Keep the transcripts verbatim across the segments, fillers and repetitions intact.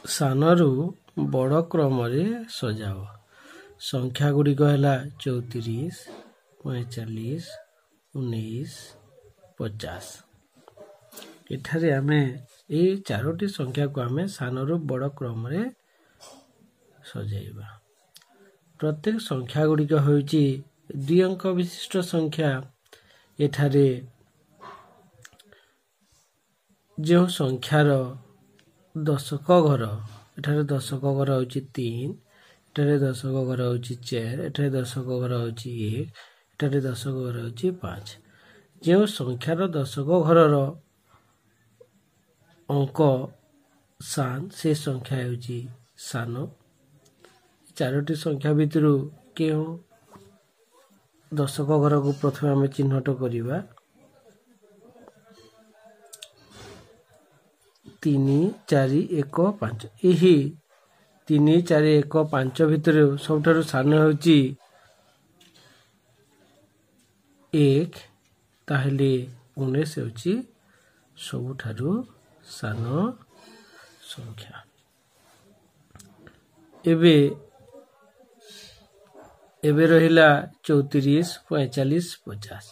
ସାନରୁ ବଡ଼ କ୍ରମରେ ସଜାଅ। ସଂଖ୍ୟା ଗୁଡ଼ିକ ହେଲା ଚଉତିରିଶ, ପଇଁଚାଳିଶ, ଉଣେଇଶ, ପଚାଶ। ଏଠାରେ ଆମେ ଏଇ ଚାରୋଟି ସଂଖ୍ୟାକୁ ଆମେ ସାନରୁ ବଡ଼ କ୍ରମରେ ସଜାଇବା। ପ୍ରତ୍ୟେକ ସଂଖ୍ୟା ଗୁଡ଼ିକ ହେଉଛି ଦୁଇ ଅଙ୍କ ବିଶିଷ୍ଟ ସଂଖ୍ୟା। ଏଠାରେ ଯେଉଁ ସଂଖ୍ୟାର ଦଶକ ଘର, ଏଠାରେ ଦଶକ ଘର ହେଉଛି ତିନି, ଏଠାରେ ଦଶକ ଘର ହେଉଛି ଚାରି, ଏଠାରେ ଦଶକ ଘର ହେଉଛି ଏକ, ଏଠାରେ ଦଶକ ଘର ହେଉଛି ପାଞ୍ଚ। ଯେଉଁ ସଂଖ୍ୟାର ଦଶକ ଘରର ଅଙ୍କ ସାନ, ସେ ସଂଖ୍ୟା ହେଉଛି ସାନ। ଚାରୋଟି ସଂଖ୍ୟା ଭିତରୁ କେଉଁ ଦଶକ ଘରକୁ ପ୍ରଥମେ ଆମେ ଚିହ୍ନଟ କରିବା? ତିନି, ଚାରି, ଏକ, ପାଞ୍ଚ। ଏହି ତିନି, ଚାରି, ଏକ, ପାଞ୍ଚ ଭିତରୁ ସବୁଠାରୁ ସାନ ହେଉଛି ଏକ। ତାହେଲେ ଉଣେଇଶ ହେଉଛି ସବୁଠାରୁ ସାନ ସଂଖ୍ୟା। ଏବେ ଏବେ ରହିଲା ଚଉତିରିଶ, ପଇଁଚାଳିଶ, ପଚାଶ।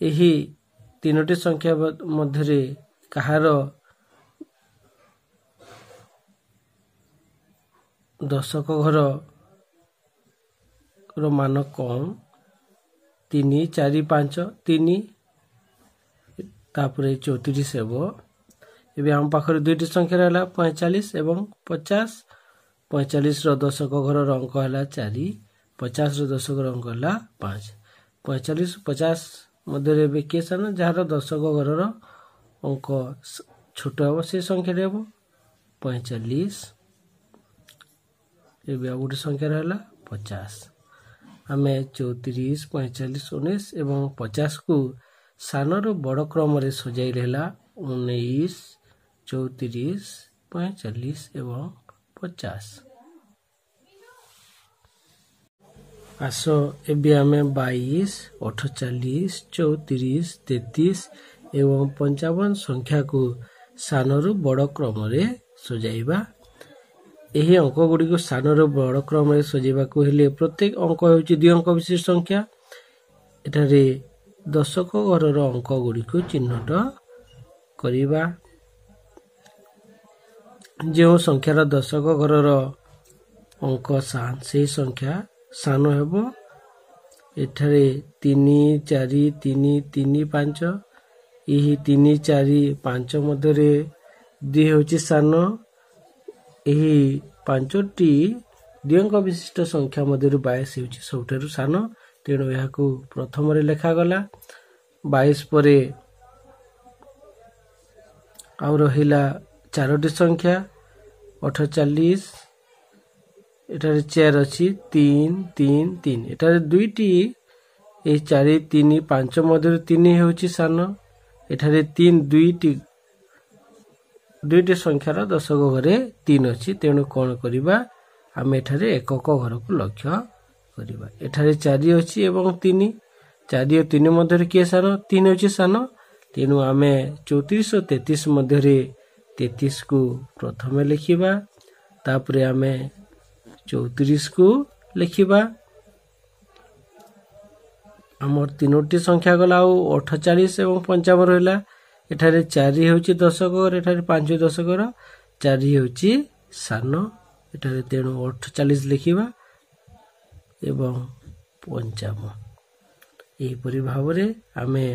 ଏହି ତିନୋଟି ସଂଖ୍ୟା ମଧ୍ୟରେ କାହାର ଦଶକ ଘରର ମାନ କମ୍? ତିନି, ଚାରି, ପାଞ୍ଚ, ତିନି, ତାପରେ ଚଉତିରିଶ ହେବ। ଏବେ ଆମ ପାଖରେ ଦୁଇଟି ସଂଖ୍ୟା ରହିଲା, ପଇଁଚାଳିଶ ଏବଂ ପଚାଶ। ପଇଁଚାଳିଶର ଦଶକ ଘରର ଅଙ୍କ ହେଲା ଚାରି, ପଚାଶର ଦଶକର ଅଙ୍କ ହେଲା ପାଞ୍ଚ। ପଇଁଚାଳିଶ ପଚାଶ ମଧ୍ୟରେ ଏବେ କିଏ ସାନ? ଯାହାର ଦଶକ ଘରର ଅଙ୍କ ଛୋଟ ହେବ ସେ ସଂଖ୍ୟାଟି ହେବ ପଇଁଚାଳିଶ। ଏବେ ଆଉ ଗୋଟେ ସଂଖ୍ୟା ରହିଲା ପଚାଶ। ଆମେ ଚଉତିରିଶ, ପଇଁଚାଳିଶ, ଉଣେଇଶ ଏବଂ ପଚାଶକୁ ସାନରୁ ବଡ଼ କ୍ରମରେ ସଜାଇଲେ ହେଲା ଉଣେଇଶ, ଚଉତିରିଶ, ପଇଁଚାଳିଶ ଏବଂ ପଚାଶ। ଆସ ଏବେ ଆମେ ବାଇଶ, ଅଠଚାଳିଶ, ଚଉତିରିଶ, ତେତିଶ ଏବଂ ପଞ୍ଚାବନ ସଂଖ୍ୟାକୁ ସାନରୁ ବଡ଼ କ୍ରମରେ ସଜାଇବା। ଏହି ଅଙ୍କ ଗୁଡ଼ିକୁ ସାନରୁ ବଡ଼ କ୍ରମରେ ସଜାଇବାକୁ ହେଲେ ପ୍ରତ୍ୟେକ ଅଙ୍କ ହେଉଛି ଦୁଇ ଅଙ୍କ ବିଶିଷ୍ଟ ସଂଖ୍ୟା। ଏଠାରେ ଦଶକ ଘରର ଅଙ୍କ ଗୁଡ଼ିକୁ ଚିହ୍ନଟ କରିବା। ଯେଉଁ ସଂଖ୍ୟାର ଦଶକ ଘରର ଅଙ୍କ ସାନ, ସେହି ସଂଖ୍ୟା ସାନ ହେବ। ଏଠାରେ ତିନି, ଚାରି, ତିନି, ତିନି, ପାଞ୍ଚ। ଏହି ତିନି, ଚାରି, ପାଞ୍ଚ ମଧ୍ୟରେ ଦୁଇ ହେଉଛି ସାନ। ଏହି ପାଞ୍ଚଟି ଦୁଇ ଅଙ୍କ ବିଶିଷ୍ଟ ସଂଖ୍ୟା ମଧ୍ୟରୁ ବାଇଶ ହେଉଛି ସବୁଠାରୁ ସାନ, ତେଣୁ ଏହାକୁ ପ୍ରଥମରେ ଲେଖାଗଲା। ବାଇଶ ପରେ ଆଉ ରହିଲା ଚାରୋଟି ସଂଖ୍ୟା, ଅଠଚାଳିଶ, ଏଠାରେ ଚାରି ଅଛି, ତିନି, ତିନି, ତିନି। ଏଠାରେ ଦୁଇଟି, ଏହି ଚାରି, ତିନି, ପାଞ୍ଚ ମଧ୍ୟରୁ ତିନି ହେଉଛି ସାନ। ଏଠାରେ ତିନି, ଦୁଇଟି ଦୁଇଟି ସଂଖ୍ୟାର ଦଶକ ଘରେ ତିନି ଅଛି, ତେଣୁ କ'ଣ କରିବା? ଆମେ ଏଠାରେ ଏକକ ଘରକୁ ଲକ୍ଷ୍ୟ କରିବା। ଏଠାରେ ଚାରି ଅଛି ଏବଂ ତିନି, ଚାରି ଓ ତିନି ମଧ୍ୟରେ କିଏ ସାନ? ତିନି ହେଉଛି ସାନ। ତେଣୁ ଆମେ ଚଉତିରିଶ ଓ ତେତିଶ ମଧ୍ୟରେ ତେତିଶକୁ ପ୍ରଥମେ ଲେଖିବା, ତାପରେ ଆମେ ଚଉତିରିଶକୁ ଲେଖିବା। ଆମର ତିନୋଟି ସଂଖ୍ୟା ଗଲା, ଆଉ ଅଠଚାଳିଶ ଏବଂ ପଞ୍ଚାବନ ରହିଲା। ଏଠାରେ ଚାରି ହେଉଛି ଦଶକ ଘର, ଏଠାରେ ପାଞ୍ଚ ଦଶକ ଘର, ଚାରି ହେଉଛି ସାନ ଏଠାରେ, ତେଣୁ ଅଠଚାଳିଶ ଲେଖିବା ଏବଂ ପଞ୍ଚାବନ। ଏହିପରି ଭାବରେ ଆମେ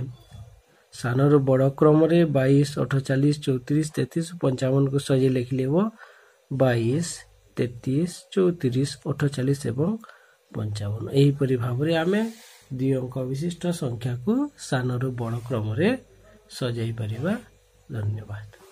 ସାନରୁ ବଡ଼ କ୍ରମରେ ବାଇଶ, ଅଠଚାଳିଶ, ଚଉତିରିଶ, ତେତିଶ, ପଞ୍ଚାବନକୁ ସଜାଇ ଲେଖିଲେ ହେବ ବାଇଶ, ତେତିଶ, ଚଉତିରିଶ, ଅଠଚାଳିଶ ଏବଂ ପଞ୍ଚାବନ। ଏହିପରି ଭାବରେ ଆମେ ଦୁଇ ଅଙ୍କ ବିଶିଷ୍ଟ ସଂଖ୍ୟାକୁ ସାନରୁ ବଡ଼ କ୍ରମରେ ସଜାଇ ପାରିବା। ଧନ୍ୟବାଦ।